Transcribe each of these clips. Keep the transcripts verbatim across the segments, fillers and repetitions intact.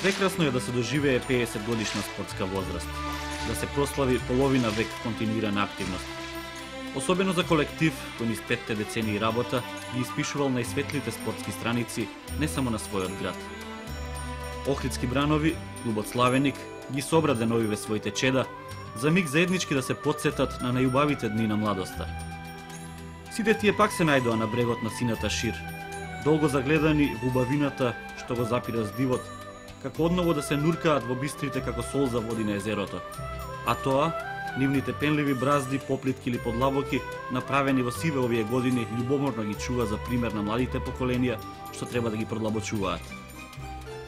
Прекрасно е да се доживее пеесет годишна спортска возраст, да се прослави половина век континуирана активност. Особено за колектив кој низ петте децении работа ги испишувал најсветлите спортски страници не само на својот град. Охридски бранови, клубот Славеник, ги собра деновиве своите чеда, за миг заеднички да се потсетат на најубавите дни на младоста. Сите тие пак се најдоа на брегот на сината шир, долго загледани во убавината што го запира здивот, како одново да се нуркаат во бистрите како солза води на езерото. А тоа, нивните пенливи бразди, поплитки или подлабоки, направени во сиве овие години, љубоморно ги чува за пример на младите поколенија што треба да ги продлабочуваат.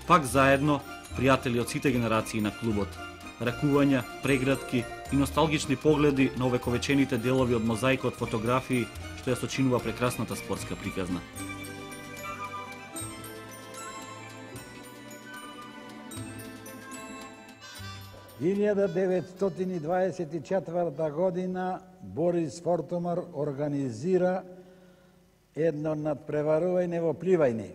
Пак заедно, пријатели од сите генерации на клубот, ракувања, преградки и носталгични погледи на овековечените делови од мозаикот фотографии што ја сочинува прекрасната спортска приказна. илјада деветстотини дваесет и четврта година Борис Фортомар организира едно надпреварување во пливање.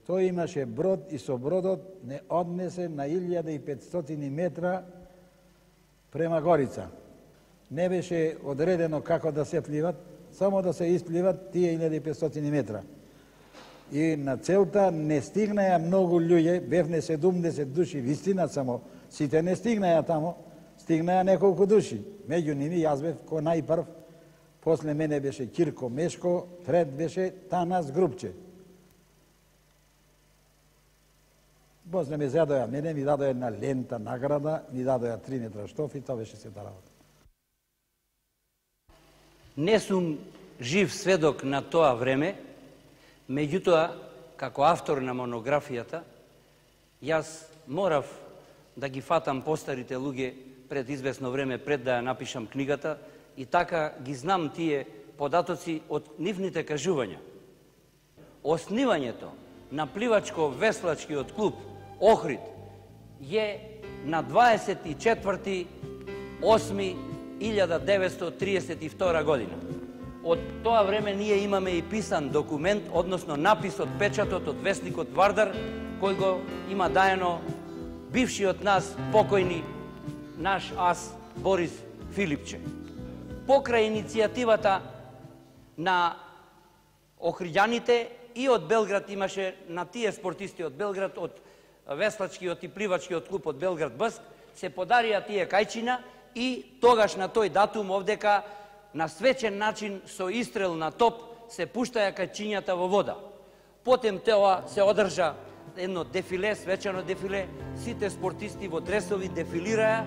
Тој имаше брод и со бродот не однесе на илјада и петстотини метра према Горица. Не беше одредено како да се пливат, само да се испливат тие илјада и петстотини метра. И на целта не стигнаја многу луѓе, бевне седумдесет души, вистина само, сите не стигнаја тамо, стигнаја неколку души. Меѓу ними јас бев кој најпрв, после мене беше Кирко Мешко, трет беше Танас Грубче. После ме задоја мене, ми дадоја една лента награда, ми дадоја три метра штоф и тоа беше сета работа. Не сум жив сведок на тоа време, меѓутоа, како автор на монографијата, јас морав да ги фатам постарите луѓе пред известно време, пред да ја напишам книгата, и така ги знам тие податоци од нивните кажувања. Оснивањето на пливачко-веслачкиот клуб Охрид е на дваесет и четврти осми илјада деветстотини триесет и втора година. Од тоа време ние имаме и писан документ, односно напис од печатот од весникот Вардар, кој го има даено бившиот нас покојни наш ас Борис Филипче. Покрај иницијативата на охриѓаните и од Белград имаше на тие спортисти од Белград, од веслачкиот и пливачкиот клуб од Белград Бъск, се подарија тие кајчина и тогаш на тој датум овдека на свечен начин со истрел на топ се пуштаја кајчињата во вода. Потем тоа се одржа едно дефиле, свечено дефиле, сите спортисти во дресови дефилираја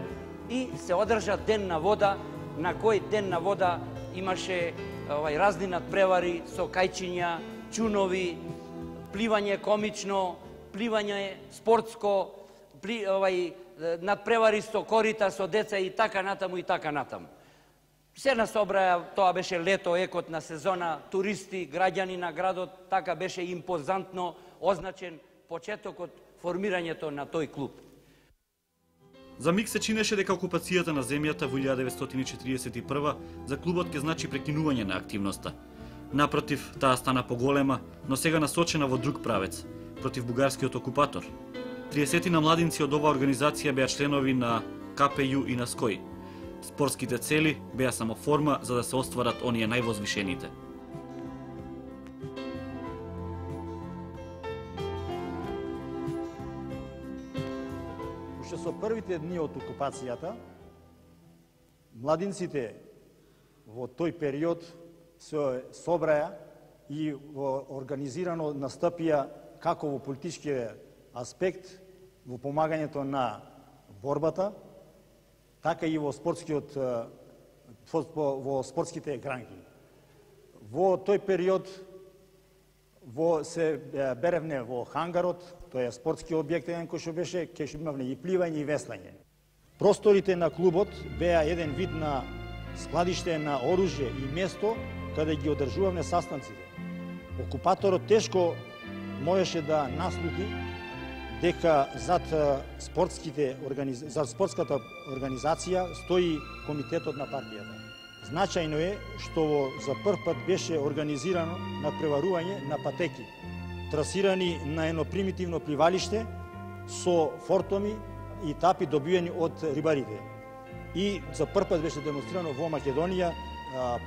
и се одржа ден на вода, на кој ден на вода имаше овај разни надпревари со кајчиња, чунови, пливање комично, пливање спортско, пли, овај надпревари со корита, со деца и така натаму и така натаму. Се насобраја, тоа беше лето, екот на сезона, туристи, граѓани на градот, така беше импозантно означен почетокот формирањето на тој клуб. За миг се чинеше дека окупацијата на земјата во илјада деветстотини четиридесет и прва за клубот ќе значи прекинување на активноста. Напротив, таа стана поголема, но сега насочена во друг правец, против бугарскиот окупатор. триесет на младинци од оваа организација беа членови на Ка Пе Ју и на Ској. Спортските цели беа само форма за да се остварат оние највозвишените. Уште со првите дни од окупацијата, младинците во тој период се собраја и организирано настапија како во политичкиот аспект, во помагањето на борбата, така и во спортскиот во спортските гранки. Во тој период во се беревне во хангарот, тој е спортски објект еден кој што беше, ке што имавне и пливање и веслање. Просторите на клубот беа еден вид на складиште на оружје и место каде ги одржувавме састанците. Окупаторот тешко можеше да наслути дека зад спортските за спортската организација стои комитетот на партијата. Значајно е што за прв пат беше организирано надпреварување на патеки, трасирани на едно примитивно пливалиште со фортоми и тапи добиени од рибарите. И за прв пат беше демонстрирано во Македонија,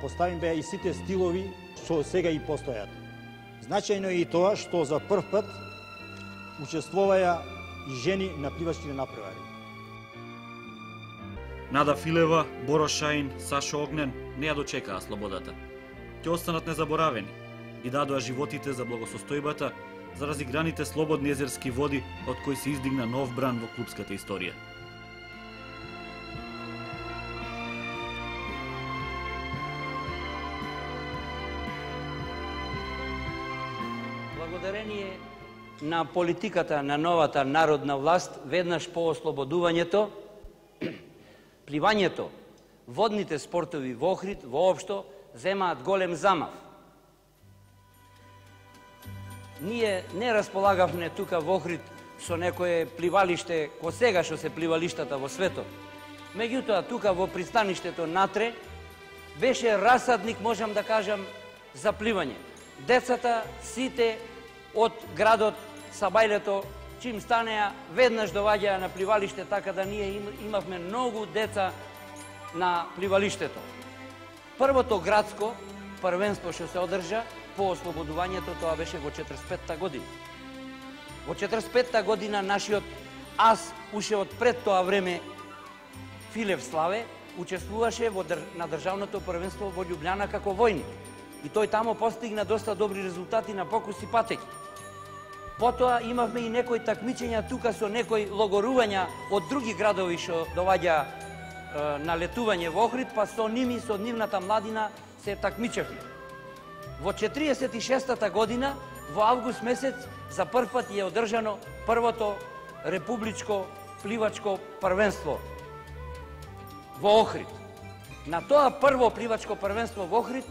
поставени беа и сите стилови што сега и постојат. Значајно е и тоа што за прв пат учествуваја и жени на пливачките напревари. Нада Филева, Боро Шаин, Сашо Огнен не ја дочекаа слободата. Ќе останат незаборавени, ги дадоа животите за благосостојбата, за разиграните слободни езерски води од кои се издигна нов бран во клубската историја. Благодарение на политиката на новата народна власт, веднаш по ослободувањето, пливањето, водните спортови во Охрид воопшто земаат голем замав. Ние не располагавме тука во Охрид со некое пливалиште ко сега што се пливалиштата во светот. Меѓутоа, тука во пристаништето Натре беше расадник, можам да кажам, за пливање. Децата, сите од градот Сабајлето, чим станеа, веднаш доваѓаа на пливалиште, така да ние имавме многу деца на пливалиштето. Првото градско првенство што се одржа по ослободувањето, тоа беше во четридесет и петта година. Во четридесет и петта година нашиот ас, уште од пред тоа време, Филев Славе, учествуваше во др... на државното првенство во Љубљана како војник. И тој тамо постигна доста добри резултати на покуси патеки. Потоа имавме и некои такмичења тука со некои логорувања од други градови што доваѓа е, на летување во Охрид, па со ними, со нивната младина се такмичевме. Во четириесет и шестата година, во август месец, за прв пат е одржано првото републичко пливачко првенство во Охрид. На тоа прво пливачко првенство во Охрид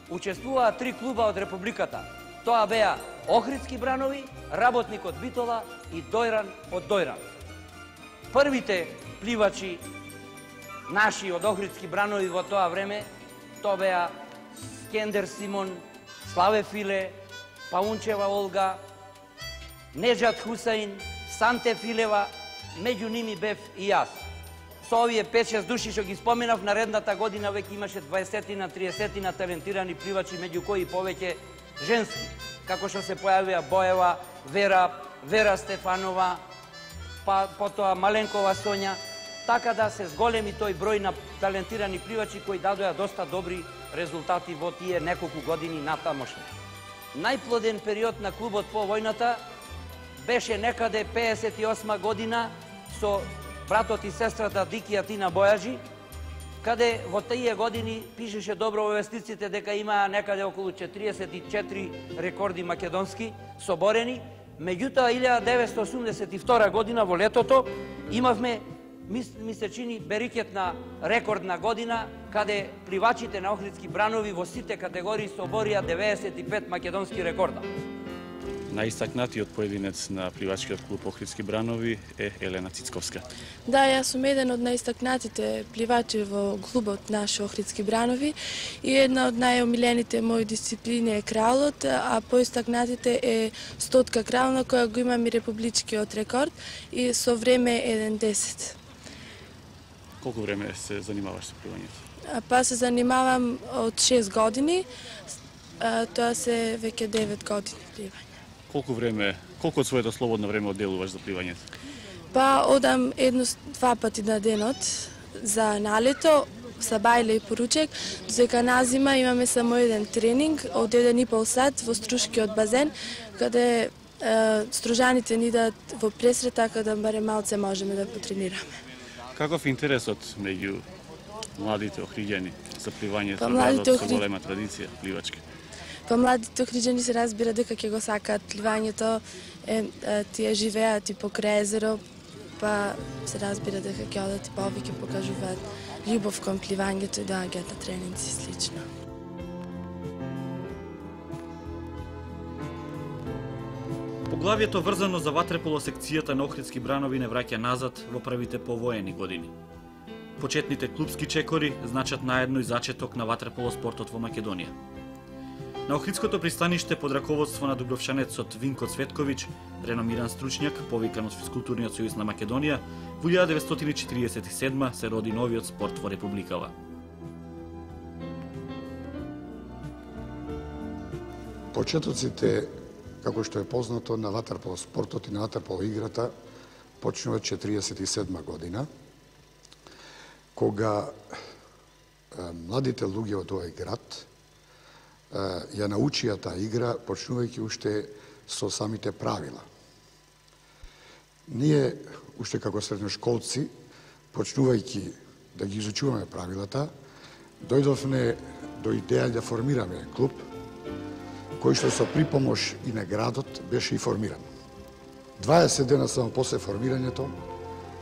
учествуваа три клуба од републиката. Тоа беа Охридски бранови, Работник од Битола и Дојран од Дојран. Првите пливачи наши од Охридски бранови во тоа време, тоа беа Скендер Симон, Славе Филе, Паунчева Олга, Неджат Хусаин, Санте Филева, меѓу ними бев и јас. Со овие пет-шест души што ги споменав, наредната година веќе имаше дваесетина, триесетина талентирани пливачи, меѓу кои повеќе женски, како што се појавија Боева, Вера, Вера Стефанова, па потоа Маленкова Сонја, така да се зголеми тој број на талентирани пливачи кои дадоа доста добри резултати во тие неколку години натамошни. Најплоден период на клубот по војната беше некаде пеесет и осма година со братот и сестрата Дики и Атина Бојаджи, каде во тие години пишеше добро во вестниците дека имаа некаде околу четириесет и четири рекорди македонски соборени. Меѓутоа, илјада деветстотини осумдесет и втора година во летото имавме, ми се чини, берикетна рекордна година, каде пливачите на Охридски бранови во сите категории соборија деветдесет и пет македонски рекорда. Најистакнатиот поединец на пливачкиот клуб Охридски бранови е Елена Цицковска. Да, јас сум еден од најистакнатите пливачи во клубот наш Охридски бранови и една од најомилените мои дисциплини е краулот, а поистакнатите е стотка краул, на која го имам и републичкиот рекорд и со време еден десет. Колку време се занимаваш со пливањето? Па се занимавам од шест години, тоа се веќе девет години пливање. Колку време, колку од своето слободно време одделуваш за пливањето? Па одам едно-два пати на денот за налето, Сабајле и поручек, додека на зима имаме само еден тренинг од еден и пол сат во Струшкиот базен, каде е, стружаните ни дадат во пресрет, така да барем малце можеме да потренираме. Каков е интересот меѓу младите охриѓани за пливањето, па, градот со охри... голема традиција пливачка? Па младите охриѓани се разбира дека ќе го сакаат пливањето, е, е, тие живеат и покрај езеро, па се разбира дека ќе одат и повеќе покажуваат љубов кон пливањето и доаѓаат на тренинзи и слично. Поглавието врзано за ватреполо секцијата на Охридски бранови не враќа назад во првите повоени години. Почетните клубски чекори значат наедно и зачеток на ватреполо спортот во Македонија. На Охридското пристаниште под раководство на дубровчанецот Винко Цветковиќ, реномиран стручњак, повикан од Физкултурниот сојуз на Македонија, во илјада деветстотини четиридесет и седма се роди новиот спорт во Републикава. Почетоците, како што е познато, на ватерполо спортот и на ватерполо играта почнува четиридесет и седма година, кога младите луѓе од овој град ја научија таа игра, почнувајќи уште со самите правила. Ние, уште како средношколци, почнувајќи да ги изучуваме правилата, дојдовме до идеја да формираме клуб, кој што со припомош и на градот беше и формиран. дваесет дена само после формирањето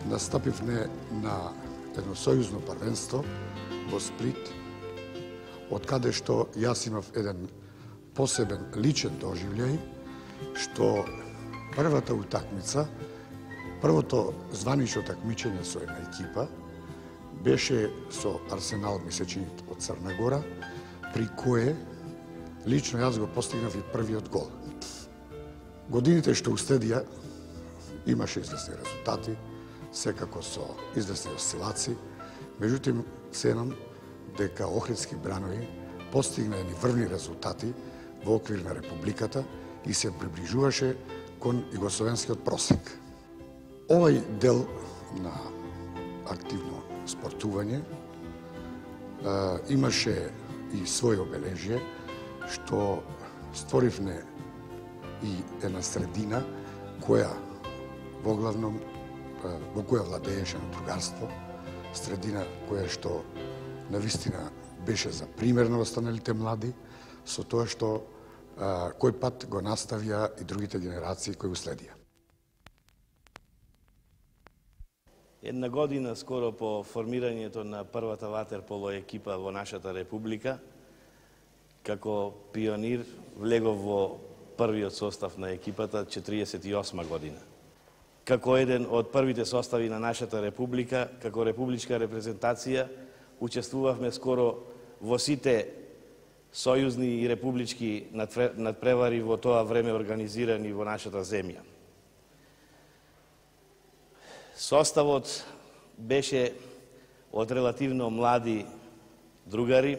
настапивме на едно сојузно првенство во Сплит, од каде што јас имав еден посебен личен доживљај, што првата утакмица, првото званично такмичење со една екипа, беше со Арсенал Мисечинит од Црна Гора, при кое лично јас го постигнав и првиот гол. Годините што уследија имаше известни резултати, секако со известни осцилации, меѓутоа ценам дека Охридски бранови постигна едни врвни резултати во оквир на Републиката и се приближуваше кон југословенскиот просек. Овај дел на активно спортување имаше и своје обележје, што створивме и една средина која воглавном во која владееше на другарство, средина која што навистина беше за пример на останалите млади, со тоа што а, кој пат го наставија и другите генерации кои уследија. Една година скоро по формирањето на првата ватерполо екипа во нашата република, како пионир влегов во првиот состав на екипата четиридесет и осма година. Како еден од првите состави на нашата република, како републичка репрезентација, учествувавме скоро во сите сојузни и републички надпревари во тоа време организирани во нашата земја. Составот беше од релативно млади другари,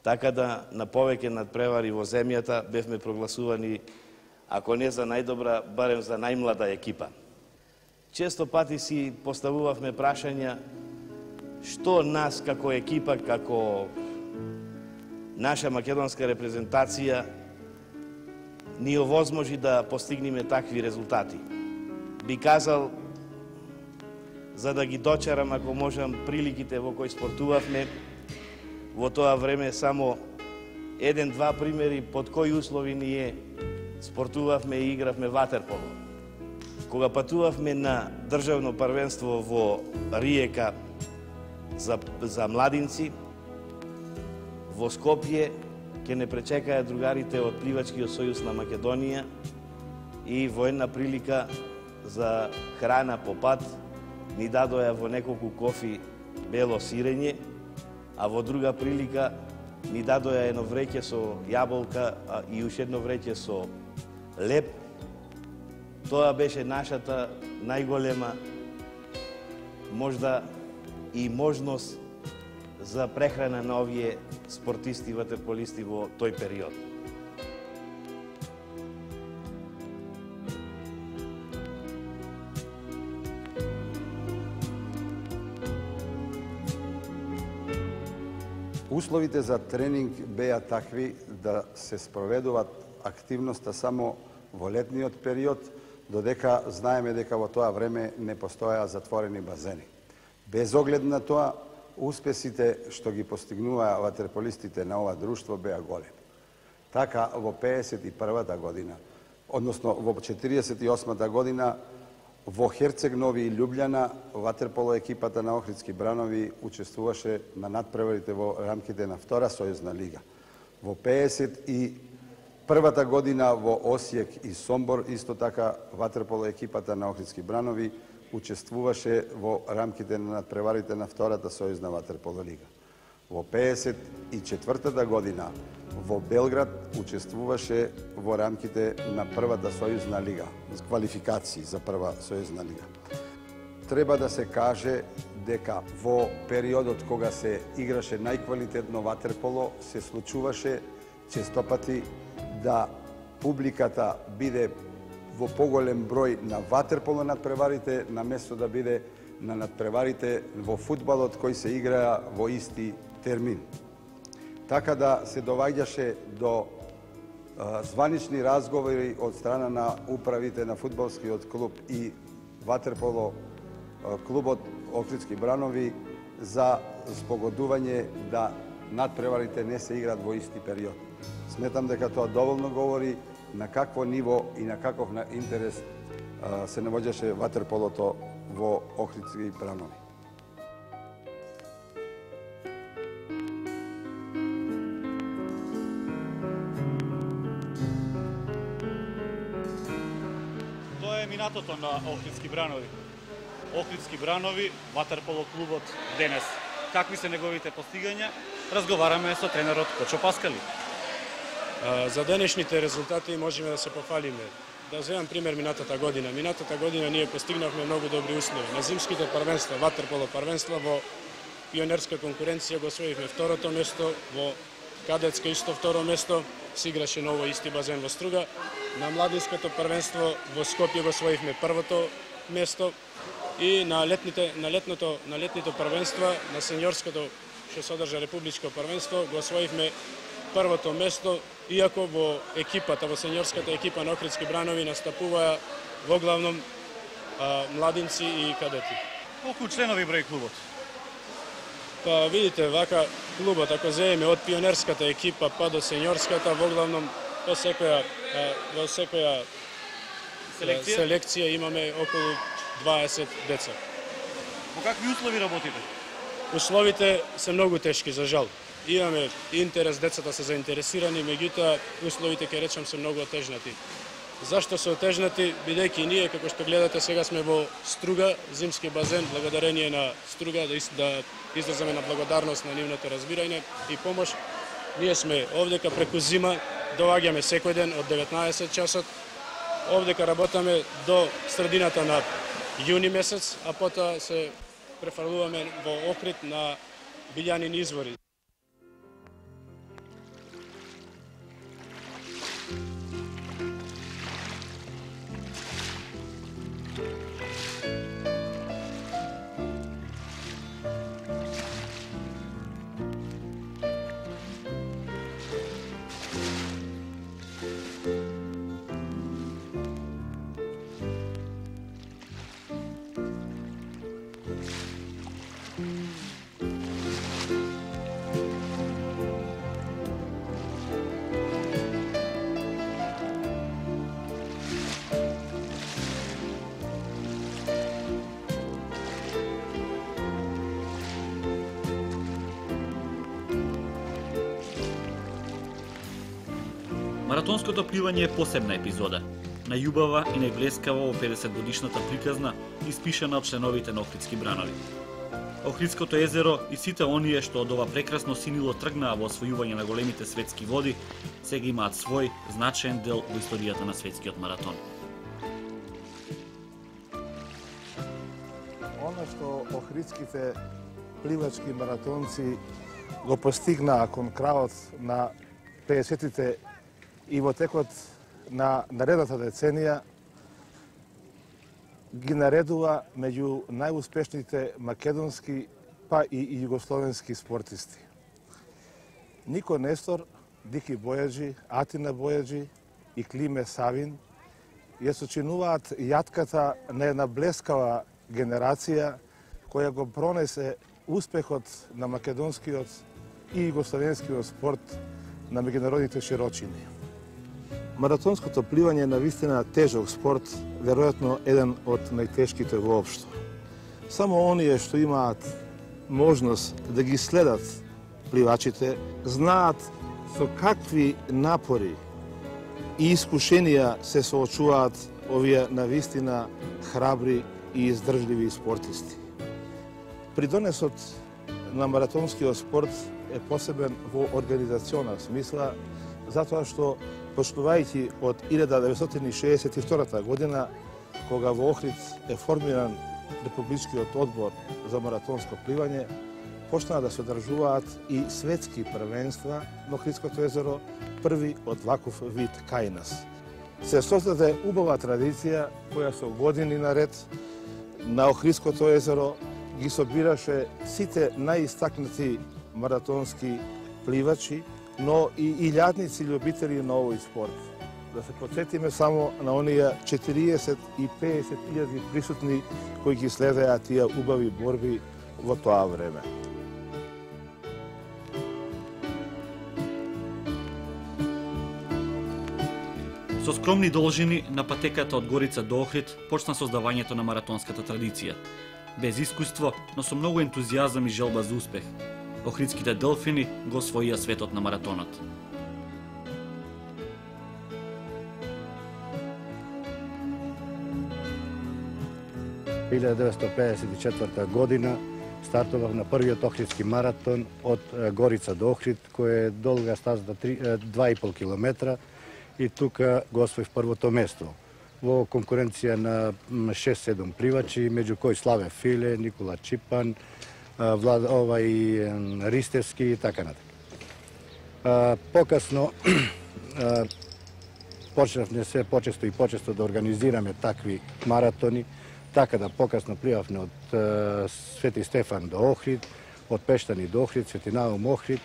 така да на повеќе надпревари во земјата бевме прогласувани, ако не за најдобра, барем за најмлада екипа. Често пати си поставувавме прашања што нас како екипа, како наша македонска репрезентација ни овозможи да постигнеме такви резултати. Би казал, за да ги дочарам, ако можам, приликите во кои спортувавме, во тоа време само еден-два примери под кои услови ние спортувавме и игравме ватерполо. Кога патувавме на државно првенство во Риека за, за младинци, во Скопје ќе не пречекаја другарите од Пливачкиот сојуз на Македонија и во една прилика за храна по пат ни дадоја во неколку кофи бело сирење, а во друга прилика ни дадоја едно вреќе со јаболка и уште едно вреќе со леп. Тоа беше нашата најголема можда и можност за прехрана на овие спортисти и ватерполисти во тој период. Условите за тренинг беа такви да се спроведуваат активноста само во летниот период, додека знаеме дека во тоа време не постојаа затворени базени. Без оглед на тоа, успесите што ги постигнуваа ватерполистите на ова друштво беа големи. Така, во пеесет и првата година, односно во четиридесет и осмата година, во Херцег Нови и Љубљана, ватерполо екипата на Охридски бранови учествуваше на надпреварите во рамките на Втора сојузна лига. Во пеесет и првата година во Осијек и Сомбор, исто така, ватерполо екипата на Охридски бранови учествуваше во рамките на надпреварите на Втората сојузна ватерполо лига. Во пеесет и четвртата година во Белград учествуваше во рамките на првата сојузна лига, квалификации за прва сојузна лига. Треба да се каже дека во периодот кога се играше најквалитетно ватерполо, се случуваше честопати да публиката биде во поголем број на ватерполо надпреварите, наместо да биде на надпреварите во фудбалот кои се играа во исти термин. Така да се доваѓаше до а, званични разговори од страна на управите на фудбалскиот клуб и ватерполо а, клубот Охридски Бранови за спогодување да надпреварите не се играат во исти период. Сметам дека тоа доволно говори на какво ниво и на каков на интерес а, се наоѓаше ватерполото во Охридски Бранови. Тоа е минатото на Охридски Бранови. Охридски Бранови, ватерполо клубот денес. Какви се неговите постигања? Разговараме со тренерот Кочо Паскали. За денешните резултати можеме да се пофалиме. Да земам пример минатата година. Минатата година ние постигнавме многу добри услови. На зимските првенства, ватерполо првенства, во пионерска конкуренција го освоивме второто место, во кадетска исто второ место, се играше ново исти базен во Струга. На младинското првенство во Скопје го освоивме првото место и на летните на летното на летните првенства, на сениорското што содржа републичко првенство, го освоивме првото место, иако во екипата, во сениорската екипа на Охридски Бранови настапуваа во главном а, младинци и кадети. Колку членови број клубот? Па видите, вака клубот, ако земеме од пионерската екипа па до сениорската, во главном по секоја, а, во секоја Селекција? селекција имаме околу дваесет деца. Во какви услови работите? Условите се многу тешки, за жал. Имаме интерес, децата се заинтересирани, меѓутоа условите, ќе речам, се многу отежнати. Зашто се отежнати? Бидејќи ние, како што гледате, сега сме во Струга, зимски базен, благодарение на Струга, да, да изразаме на благодарност на нивното разбирање и помош. Ние сме овдека преку зима, доаѓаме секој ден од деветнаесет часот, овдека работаме до средината на јуни месец, а потоа се префрлуваме во Охрид на Билјанин извори. Маратонското пливање е посебна епизода, најубава и најблескава во педесет годишната приказна, испишана од членовите на Охридски Бранови. Охридското езеро и сите оние што од ова прекрасно синило тргнаа во освојување на големите светски води, сега имаат свој значаен дел во историјата на светскиот маратон. Оно што охридските пливачки маратонци го постигнаа кон крајот на пеесетите и во текот на наредната деценија ги наредува меѓу најуспешните македонски па и југословенски спортисти. Нико Нестор, Дики Бојаджи, Атина Бојаджи и Климе Савин ја сочинуваат јатката на една блескава генерација која го пронесе успехот на македонскиот и југословенскиот спорт на меѓународните широчини. Маратонското пливање е навистина тежок спорт, веројатно еден од најтешките воопшто. Само оние што имаат можност да ги следат пливачите, знаат со какви напори и искушенија се соочуваат овие навистина храбри и издржливи спортисти. Придонесот на маратонскиот спорт е посебен во организациона смисла, затоа што почнувајќи од илјада деветстотини шеесет и втора година, кога во Охрид е формиран Републичкиот одбор за маратонско пливање, почнаа да се одржуваат и светски првенства на Охридското езеро, први од ваков вид кај нас. Се создаде убава традиција која со години наред на Охридското езеро ги собираше сите најистакнати маратонски пливачи, но и илјадници љубители на овој спорт. Да се подсетиме само на оние четириесет и песет илјади присутни кои ги следеа тие убави борби во тоа време. Со скромни должини на патеката од Горица до Охрид почна создавањето на маратонската традиција. Без искуство, но со многу ентузијазам и желба за успех. Охридските делфини го освоија светот на маратонот. илјада деветстотини пеесет и четврта година стартував на првиот Охридски маратон од Горица до Охрид, кој е долга стаза два и пол километра, и тука го освоив првото место во конкуренција на шест-седум пливачи, меѓу кои Славе Филе, Никола Чипан, Влад, овај Ристевски и така натака. Покасно почнавме се почесто и почесто да организираме такви маратони, така да покасно пливавме од Свети Стефан до Охрид, од Пештани до Охрид, Свети Наум Охрид,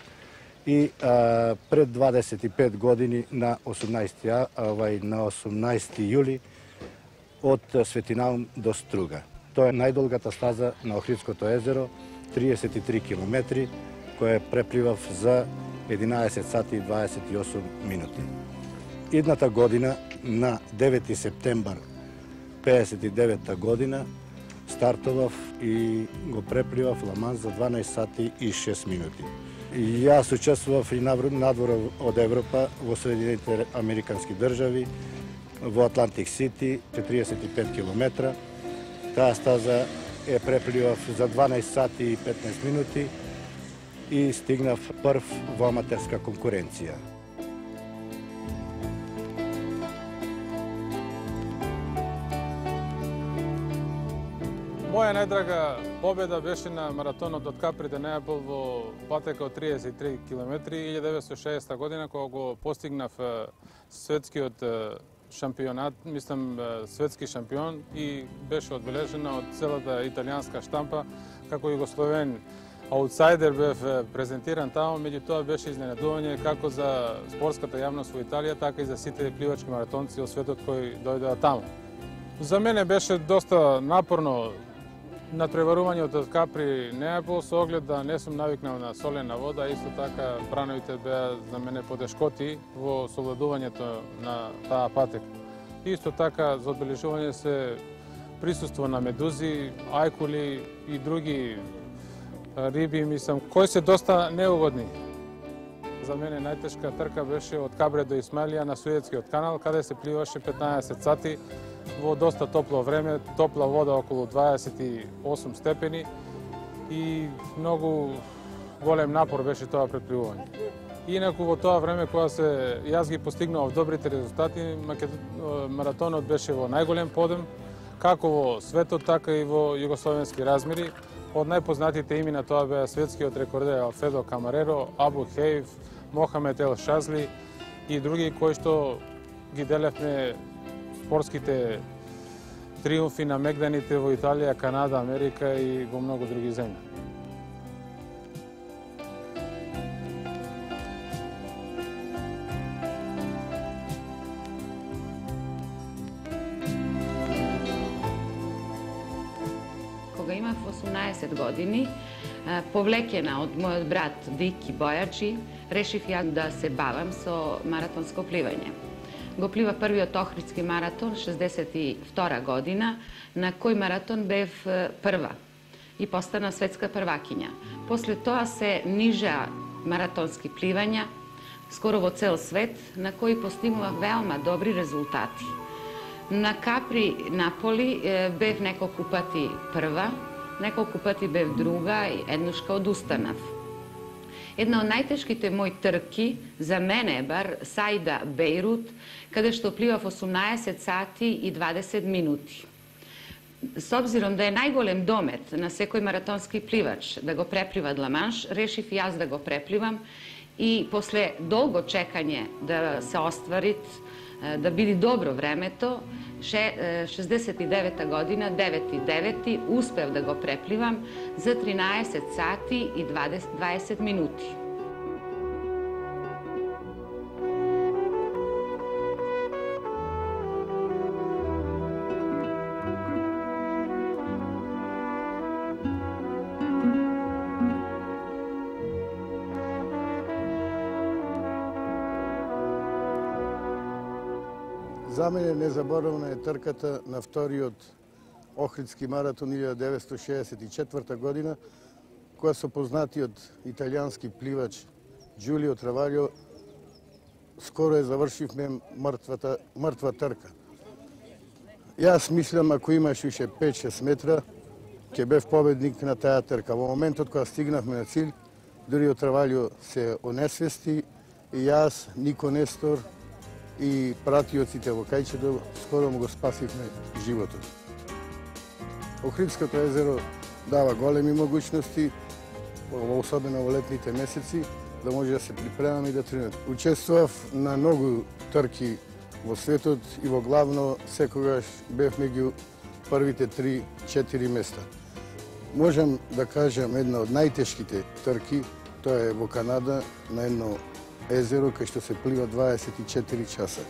и а, пред дваесет и пет години на осумнаесети, овај, на осумнаесети јули од Свети Наум до Струга. Тоа е најдолгата стаза на Охридското езеро, триесет и три километри, која препливав за единаесет сати и дваесет и осум минути. Идната година, на девети септембар пеесет и девета година, стартував и го препливав Ламан за дванаесет сати и шест минути. Јас учествував и надвор од Европа, во Соединените Американски држави, во Атлантик Сити, четириесет и пет километра. Таа стаза е препливав за дванаесет сати и петнаесет минути и стигнав прв во аматерска конкуренција. Моја најдрага победа беше на маратонот од Капри до Неапол во патека од триесет и три километри илјада деветстотини и шеесета година, кога го постигнав светскиот шампионат, мислам светски шампион, и беше одбележена од целата италијанска штампа како југословен аутсайдер. Бев презентиран таму, меѓутоа беше изненадување како за спортската јавност во Италија, така и за сите пливачки маратонци од светот кои дојдоа таму. За мене беше доста напорно натпреварувањето од Капри Неапол, со оглед да не сум навикнал на солена вода, исто така брановите беа за мене подешкоти во совладувањето на таа патека. Исто така за одбележување се присуство на медузи, ајкули и други риби, мислам, кои се доста неугодни. За мене најтешка трка беше од Кабре до Исмаилија на Суетскиот канал, каде се пливаше петнаесет сати во доста топло време, топла вода околу дваесет и осум степени и многу голем напор беше тоа претпливување. Инаку во тоа време кога се јас ги постигнував добрите резултати, маратонот беше во најголем подем, како во светот, така и во југословенски размери. Од најпознатите имена тоа беа светскиот рекордер Алфредо Камареро, Абу Хејф, Мохамед Ел Шазли и други кои што ги делевме спортските триумфи на мегданите во Италија, Канада, Америка и во многу други земји. Кога имав осумнаесет години, повлечена од мојот брат Вики Бојачи, решив ја да се бавам со маратонско пливање. Го плива првиот Охридски маратон шеесет и втора година, на кој маратон бев прва и постана светска првакиња. После тоа се нижа маратонски пливања, скоро во цел свет, на кои постигнував велма добри резултати. На Капри Наполи бев неколку пати прва, неколку пати бев друга и еднушка одустанав. Една од најтешките мои трки, за мене бар, Саида Бейрут, каде што пливав осумнаесет сати и дваесет минути. С обзиром да е најголем домет на секој маратонски пливач да го преплива Ла-Манш, решив и јас да го препливам и после долго чекање да се остварит, да биде добро времето, шездесет и девета година, девети девети, успев да го препливам за тринаесет сати и дваесет минути. За мене незаборавна е трката на вториот Охридски маратон илјада деветстотини шеесет и четврта година, која со познатиот италијански пливач Џулио Travaglio скоро е завршивме мртвата, мртва трка. Јас мислам, ако имаш уште пет-шест метра, ќе бев победник на таа трка. Во моментот кога стигнавме на цилј, Џулио Travaglio се онесвести и јас, Нико Нестор и пратиоците во кајчето скоро му го спасивме животот. Охридското езеро дава големи могуćности, особено во летните месеци, да може да се припремаме и да тренираме. Учествував на многу трки во светот и во главно секогаш бев меѓу првите три-четири места. Можам да кажам една од најтешките трки, тоа е во Канада на едно езеро кај што се плива дваесет и четири часа.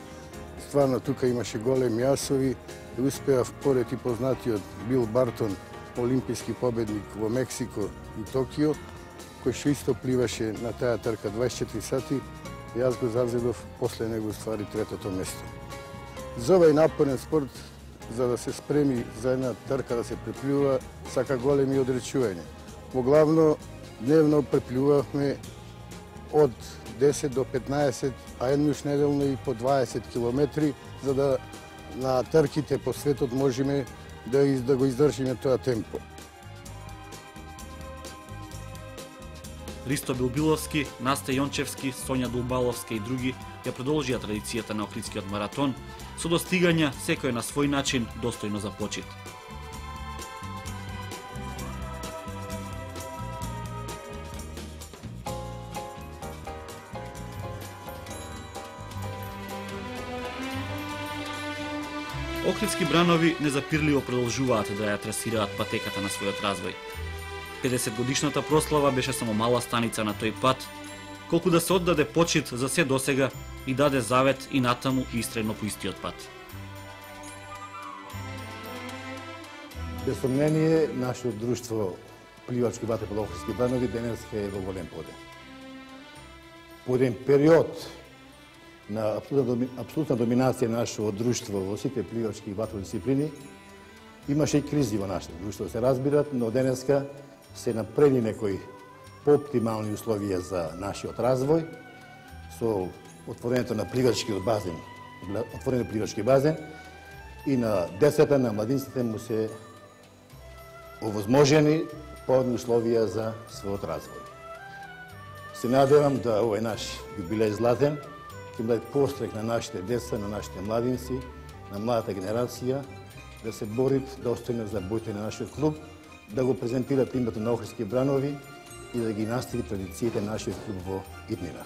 Стварно тука имаше големи јасови и успеав поред и познатиот Бил Бартон, олимписки победник во Мексико и Токио, кој што исто пливаше на таа трка дваесет и четири сати, јас го завзедов после него ствари третото место. За овај напорен спорт, за да се спреми за една трка да се препливува, сака големи одречување. Во главно дневно препливувавме од десет до петнаесет, а еднаш неделно и по дваесет километри, за да на трките по светот можеме да, из, да го издржиме тоа темпо. Ристо Билбиловски, Наста Јончевски, Сонја Дулбаловска и други ја продолжија традицијата на Охридскиот маратон со достигања секој на свој начин достојно за почит. Охридски бранови незапирливо продолжуваат да ја трасираат патеката на својот развој. педесет годишната прослава беше само мала станица на тој пат, колку да се оддаде почит за се досега и даде завет и натаму и истрено по истиот пат. Без сомнение, нашето друштво пливачки ватерполо Охридски бранови денес е во голем подем. По еден период на апсолутна доминација на нашето друштво во сите пливачки и ватерполни дисциплини, имаше и кризи во нашето друштво, се разбират, но денеска се направи некои пооптимални условија за нашиот развој, со отворението на пливачкиот базен, отворен пливачки базен и на децата, на младинците му се овозможени поодни условија за својот развој. Се надевам да овој наш јубилеј златен ќе биде пострек на нашите деца, на нашите младинци, на младата генерација, да се борит достојно за боите на нашиот клуб, да го презентират името на Охридски бранови и да ги настави традициите на нашиот клуб во иднина.